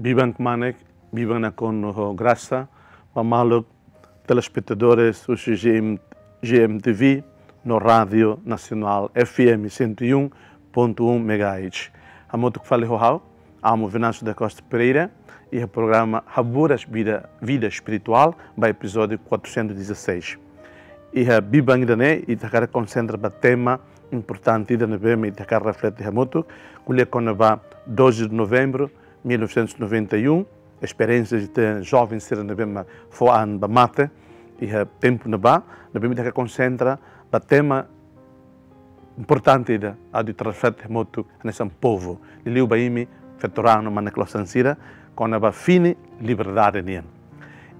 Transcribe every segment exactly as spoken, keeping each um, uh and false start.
Biban kmanek, biban nakonu ho grasa, ba maluk telespetadores husi G M, G M T V, no Rádio Nasionál F M cento e um ponto um megahertz. Hamutuk fali ho ha'u, Amu Venâncio da Costa Pereira, iha programa Haburas Vida, Vida Espiritual, ba epizódiu quatrocentos e dezasseis. Iha biban ida-ne'e, ita hakarak konsentra ba tema importante ida ne'ebé mak ita hakarak reflete hamutuk, ko'alia kona-ba doze de novembro, mil novecentos e noventa e um, esperiénsia de joven sira ne'ebé mak fó an ba mate, iha tempu ne'ebá, ne'ebé mak ita hakarak konsentra ba tema importante ida atu reflete hamutuk hanesan povu. Liuliu ba imi feto-raan no mane-klosan sira, kona-ba fini liberdade nian.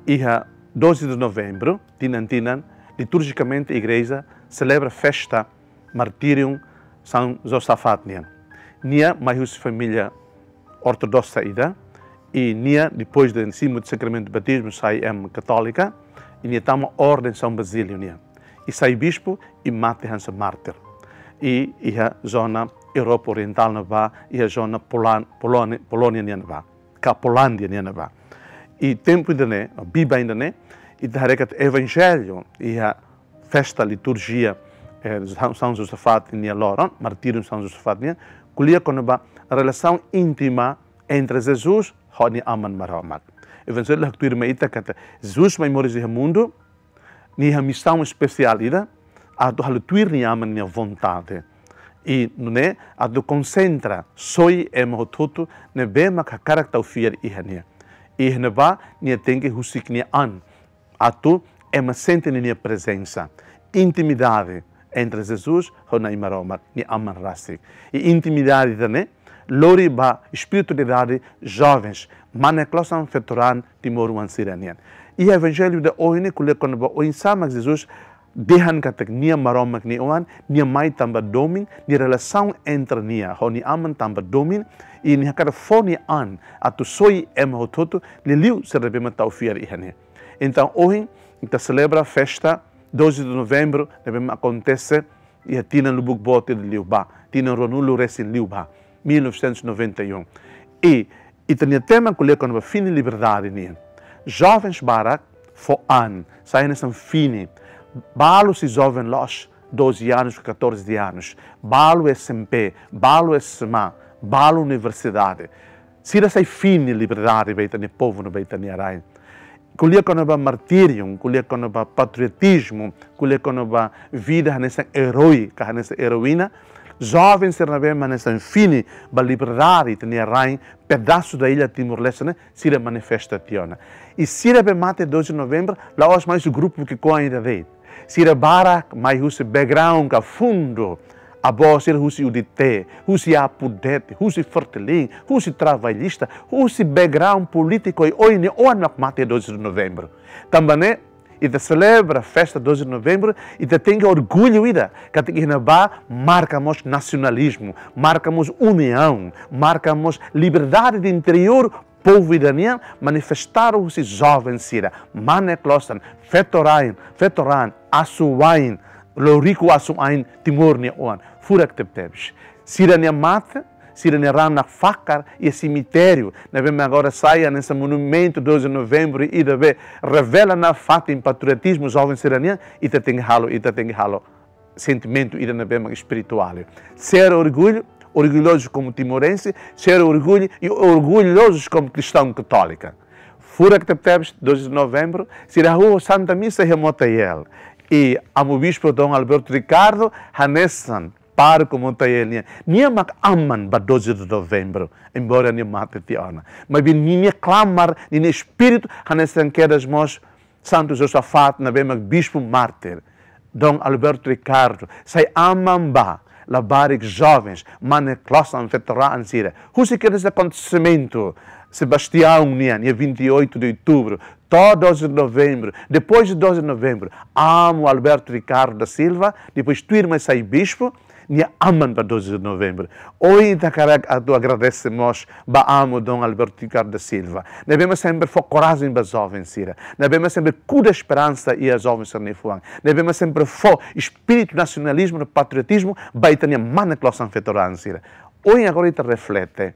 Iha doze de novembro, tinan-tinan, liturjikamente igreja selebra festa martíriu São Josafat nian. Nia mai husi família ortodoksa ida, i nia, depois de simu sakramentu batizmu, sai ema katólika, i nia tama orden São Basílio nian. I sai bispu, i mate hanesan mártir. I iha zona Europa Orientál ne'ebá, iha zona Polan-, Polónia, Polónia nian ne'ebá, ka Polándia nian ne'ebá. I tempu ida-ne'e, biban ida-ne'e, ita haree katak evanjellu, iha festa liturjia, eh, São, São Josafat nia loron, martíriu São Josafat nian, ko'alia kona-ba relasaun íntima entre Jesus ho nia Aman Maromak. Evanjellu haktuir mai ita katak Jesus mai moris iha mundu, nia iha misaun espesiál ida, atu halo tuir nia Aman nia vontade. I nune'e atu konsentra, soi ema hotu-hotu ne'ebé mak hakarak tau fiar iha nia. I iha ne'ebá nia tenke husik nia an, atu ema sente ninia prezensa. Intimidade entre Jesus ho Na'i Maromak, nia Aman rasik. I intimidade ida-ne'e lori ba espiritualidade jovens, mane-klosan, feto-raan timoroan sira-nian. I evanjellu ida ohin ne'e ko'alia kona-ba oinsá mak Jesus dehan katak nia Maromak nia Oan, nia mai tanba domin, nia relasaun entre nia ho nia Aman tanba domin, i nia hakarak fó nia an atu soi ema hotu-hotu, liuliu sira ne'ebé mak tau fiar iha nia. Entaun, ohin, ita selebra festa doze de novembro, ne'ebé mak akontese iha tinan lubuk boot ida liubá, tinan ruanulu resin liubá, mil novecentos e noventa e um. I ita-nia tema ko'alia kona-ba fini liberdade nian. Jovens barak fó an, sai hanesan fini. Balu sei joven loos, doze anos, catorze anos. Balu S M P, balu S M A, balu universidade. Sira sai fini liberdade ba ita-nia povu no ba ita-nia rain. Ko'alia kona-ba martíriu, ko'alia kona-ba patriotizmu, ko'alia kona-ba vida hanesan eroi, ka hanesan eroína. Joven sira ne'ebé mak hanesan fini ba liberdade ita-nia rain, pedasu da ilha Timor-Leste ne'e, sira manifesta tiha ona. I sira be mate doze de novembro, la'ós mai husi grupu ki'ikoan ida de'it. Sira barak mai husi background ka fundu. Avó sira husi U D T, husi APUDET, husi Fretilin, husi Travallista, husi background polítiku, i ohin nia oan mak mate doze de novembro. Tanba ne'e, ita selebra festa doze de novembro, ita tenke orgullu ida, katak iha ne'ebá marka mós nasionalizmu, marka mós uniaun, marka mós liberdade de interiór, povu ida-nian manifestadu husi joven sira, mane-klosan, feto-raan, feto-raan, asuwa'in, loriku asuwa'in Timor nia oan, furak tebetebes. Sira-nia mate, sira-nia raan nakfakar iha semitériu, ne'ebé mak agora sai hanesan monumentu doze de novembro, ida be revela nafatin patriotizmu joven sira-nian, ita tenke halo, ita tenke halo sentimentu ida ne'ebé mak espirituál. Ser orgullu, orgulhozu komu timorense, ser orgullu i orgulhozu komu kristaun katólika. Furak tebetebes, doze de novembro, sira hahú Santa Misa iha Motael. I Amu Bispu Dom Alberto Ricardo, hanesan pároku Motael nian. Nia mak aman ba doze de novembro, embora nia mate tiha ona. Maibé ninia klamar, ninia espíritu, hanesan kedas mós Santu Josafat ne'ebé mak bispu mártir, Dom Alberto Ricardo, sai aman ba labarik jovens, mane-klosan, feto-raan sira. Husi kedas akontesimentu Sebastião nian, dia vinte e oito de outubro, to'o doze de novembro, depois de doze de novembro, Amu Alberto Ricardo da Silva, depois tuirmai sai bispu, nia aman ba doze de novembro. Ohin ita hakarak atu agradese mós ba Amu Dom Alberto Ricardo da Silva, ne'ebé mak sempre fó korajen ba joven sira, ne'ebé mak sempre kuda esperansa iha joven sira-nia fuan, ne'ebé mak sempre fó espíritu nasionalizmu no patriotizmu ba ita-nia mane-klosan, feto-raan sira. Ohin agora ita reflete,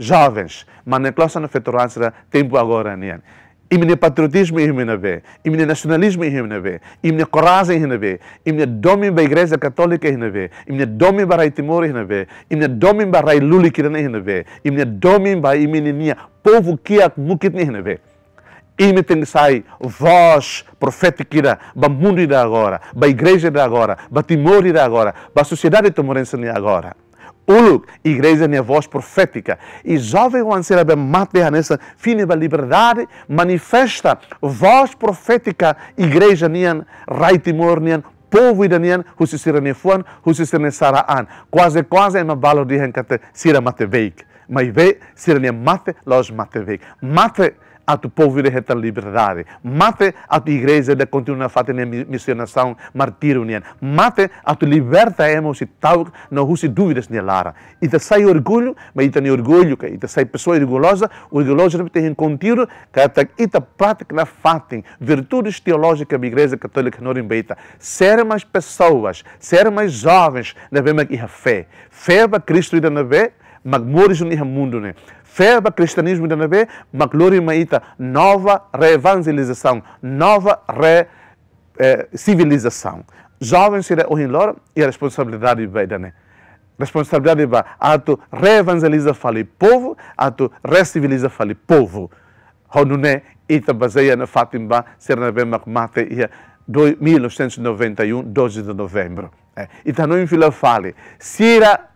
jovens, mane klosan no feto-oan sira tempu agora nian. Imi-nia patriotizmu iha ne'ebé, imi-nia nasionalizmu iha ne'ebé, imi-nia korajen iha ne'ebé, imi-nia domin ba Igreja Katólika iha ne'ebé, imi-nia domin ba rai Timor iha ne'ebé, imi-nia domin ba rai lulik ida-ne'e iha ne'ebé, imi-nia domin ba imi-nia povu kiak mukit ne'e iha ne'ebé. Imi tenke sai vós profétika ida ba mundu ida agora, ba igreja ida agora, ba Timor ida agora, ba sosiedade timorense nian agora. Uluk, igreja nia vós profétika. I joven-oan sira ne'ebé mate hanesan fini ba liberdade, manifesta vós profétika igreja nian, rai Timor nian, povu ida nian, husi sira-nia fuan, husi sira-nia sarani. Kuaze, kuaze ema balu dehan katak sira mate beik. Maibé, sira-nia mate, la'ós mate beik. Mate atu povu ida hetan liberdade. Mate atu igreja ida kontinua nafatin nia mi-, misionasaun martíriu nian. Mate atu liberta ema husi ta'uk no husi dúvidas nia laran. Ita sai orgullu, maibé ita-nia orgullu, ka ita sai pesoa orgulloza, orgulloza ne'e tenke kontinua, katak ita pratika nafatin virtudes teolójika ba Igreja Katólika hanorin ba ita. Sira mais pesoas, sira mais jovens, ne'ebé mak iha fé. Fé ba Kristu ida ne'ebé mak moris iha mundu ne'e. Fé ba kristianizmu ida ne'ebé mak lori mai ita nova reevangelizasaun, nova re, eh, sivilizasaun. Joven sira ohin loron iha responsabilidade ba ida-ne'e. Responsabilidade ba atu reevangeliza fali povu, atu resiviliza fali povu. Ho nune'e ita bazeia nafatin ba sira ne'ebé mak mate iha dois, mil novecentos e noventa e um, doze de novembro. Eh, ita hanoin fila fali. Sira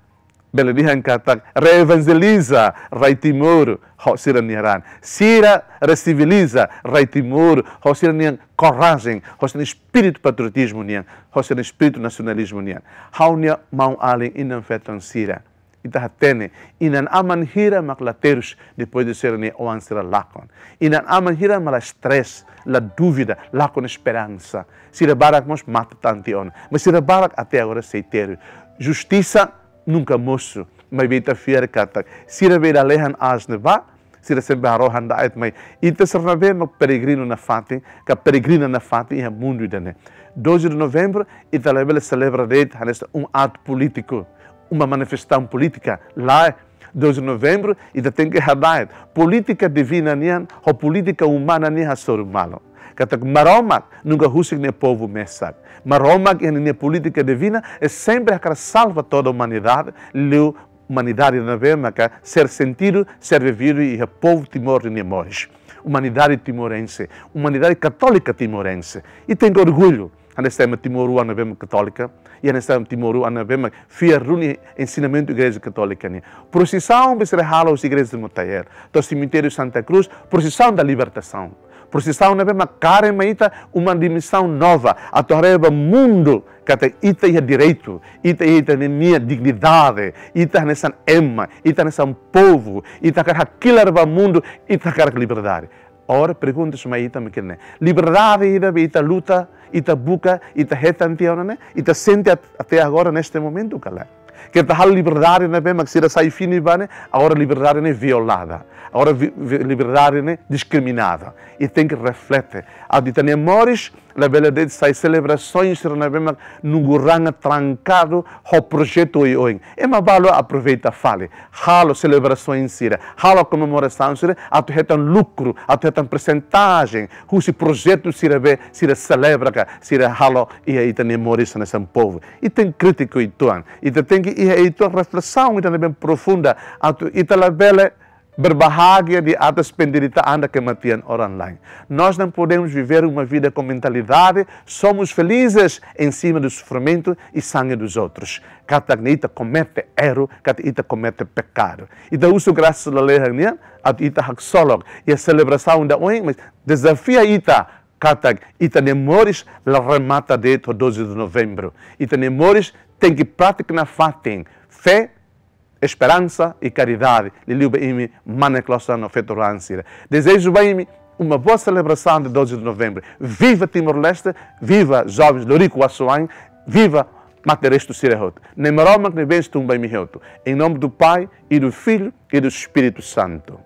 bele dehan katak reevangeliza rai Timor ho sira-nia raan. Sira resiviliza rai Timor ho sira-nia korajen, ho sira-nia espíritu patriotizmu nian, ho sira-nia espíritu nasionalizmu nian. Ha'u-nia maun-alin inan-feton sira. Ita hatene, inan-aman hira mak la terus depois de sira-nia oan sira lakon. Inan-aman hira mak la stress, la dúvida, lakon esperansa. Sira barak mós mate tan tiha ona. Mas sira barak até agora sei terus. Justisa nunka mosu. Maibé ita fiar katak sira be da lehan as ne ba, sira sempre harohan da et mai. Ita sira ne'ebé mak peregrinu nafatin, ka peregrina nafatin iha mundu ida-ne'e. Doze de novembro, ita labele selebra de'it hanesan um ato político, uma manifestação política. Lae, doze de novembro, ita tenke hada'et polítika divina nian ho polítika umana nian hasoru malu. Katak Maromak nunka husik nia povu mesak. Maromak iha nia polítika divina, e sempre hakarak salva toda a humanidade, liu humanidade ne'ebé maka ser sentido, ser vivido iha povu Timor nia moris. Humanidade timorense, humanidade katólika timorense. I tenke orgullu hanesan ema timoroan ne'ebé mak katólika, i hanesan ema timoroan ne'ebé mak fiar duni ensinamentu Igreja Katólika nian. Prosisaun be sira halo husi Igreja de Motael to'o Cemitério Santa Cruz, prosisaun da libertasaun. Prosisaun ne'ebé mak kaer mai ita uma dimensaun nova, atu haree ba mundu katak ita iha direitu, ita iha ita-nia dignidade, ita hanesan ema, ita hanesan povu, ita hakarak hakilar ba mundu, ita hakarak liberdade. Agora pergunta mai ita mak ne'e: liberdade ida be ita luta, ita buka, ita hetan tiha ona ne'e, ita sente at-, até agora neste momento ka lae? Keta halo liberdade ne'ebé mak sira sai fini ba ne'e, agora liberdade ne'e violada. Agora vi-, vi-, liberdade ne'e diskriminada. I tenke reflete. Atu ita-nia moris labele de'it sai selebrasoens sira ne'ebé mak nunguranga trankadu ho projetu oioin. Ema balu aproveita fali. Halo selebrasoens sira, halo komemorasaun sira, atu hetan lukru, atu hetan persentajen husi projetu sira be sira selebra ka sira halo iha ita-nia moris hanesan povu. Ita tenke krítiku uitoan. Ita tenke iha uitoan reflesaun ida ne'ebé profunda, atu ita labele berbahagia di atas penderitaan dan kematian orang lain. Nós não podemos viver uma vida com mentalidade: somos felizes em cima do sofrimento e sangue dos outros. Katak ne'e ita komete erru, katak ita komete pekadu. Ita husu grasa lalehan nian atu ita haksolok iha selebrasaun ida oin, mas dezafia ita katak ita-nia moris la remata de'it ho doze de novembro. Ita-nia moris tenke pratika nafatin fé, esperansa i karidade, liuliu ba imi mane klosan no feto-oan sira. Dezeja ba imi uma boa celebração de doze de novembro. Viva Timor-Leste, viva jovens Loriku Asuain, viva mate-restu sira hotu. Na'i Maromak nia bensaun tun ba imi hotu. Em nome do Pai, e do Filho, e do Espírito Santo.